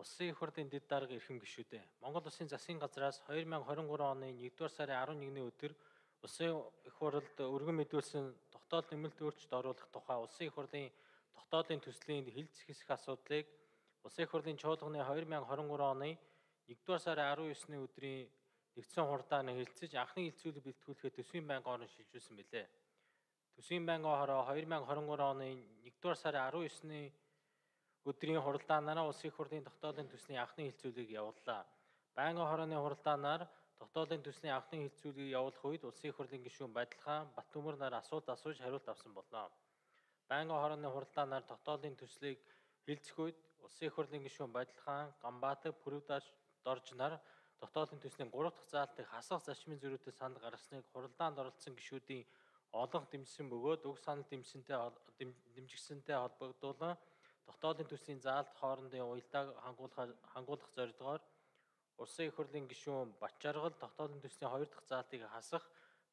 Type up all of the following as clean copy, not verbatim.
Улсын их хурлын дэд дарга эрхэм гишүүдээ. Монгол Улсын засгийн газраас 2023 оны 1-р сарын 11-ний өдөр Улсын их хурлд өргөн мэдүүлсэн тогтоол нэмэлт өөрчлөлт оруулах тухай Улсын их хурлын тогтоолын төслийн хэлэлцэх хэсэг асуудлыг Улсын их хурлын чуулганы 2023 оны 1-р сарын 19-ний өдрийн нэгдсэн хурдаар хэлэлцэж анхны хэлэлцүүлэг бэлтгүүлэхэд төсвийн байнгын орон шилжүүлсэн билээ. Төсвийн байнгын хороо 2023 оны 1-р сарын 19-ний өдрийн хуралдаанаараа Улсын их хурлын тогтоолын төслийн анхны хэлэлцүүлгийг явууллаа. Байнгын хорооны хуралдаанаар тогтоолын төслийн анхны хэлэлцүүлгийг явуулах үед Улсын их хурлын гишүүн Бадилхан Баттөмөр нар асуулт асууж хариулт авсан болно. Байнгын хорооны хуралдаанаар тогтоолын төслийг хэлэлцэх үед Улсын их хурлын гишүүн Бадилхан, Ганбаатар, Пүрэвдаш Дорж нар тогтоолын төслийн 3 дахь заалтыг хасах зарчмын зөрүүтэй санал гаргасныг хуралдаанд оролцсон гишүүдийн олонх дэмжсэн бөгөөд уг санал дэмжигсэнтэй холбогдуулан тогтоолын төслийн заалт хоорондын уялдааг хангуулах зорилгоор Улсын их хурлын гишүүн Бачаргал тогтоолын төслийн 2 дахь заалтыг хасах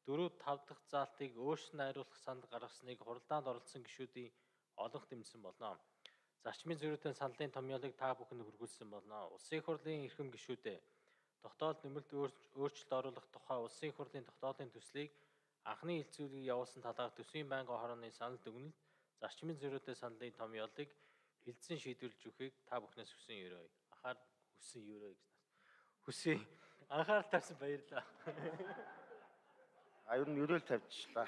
4-5 дахь заалтыг өөрчлөн найруулах санал гаргасныг хуралдаанд оролцсон гишүүдийн олонх дэмжсэн болно. Зарчмын зөрүүтэй саналын томьёолыг та бүхэнд хүргүүлсэн болно. Улсын их хурлын эрхэм гишүүдээ тогтоолд нэмэлт өөрчлөлт оруулах тухай Улсын их хурлын тогтоолын төслийг анхны хэлэлцүүлгийг явуулсан талаар төсвийн байнгын хорооны санал дүгнэлт зарчмын зөрүүтэй саналын томьёолыг хэлэлцэн шийдвэрлэж өгөхийг та бүхнээс хүсэн ерөөй. Хүсье. Анхаарал тавьсан баярлалаа. Ер нь ерөөл тавьчихлаа.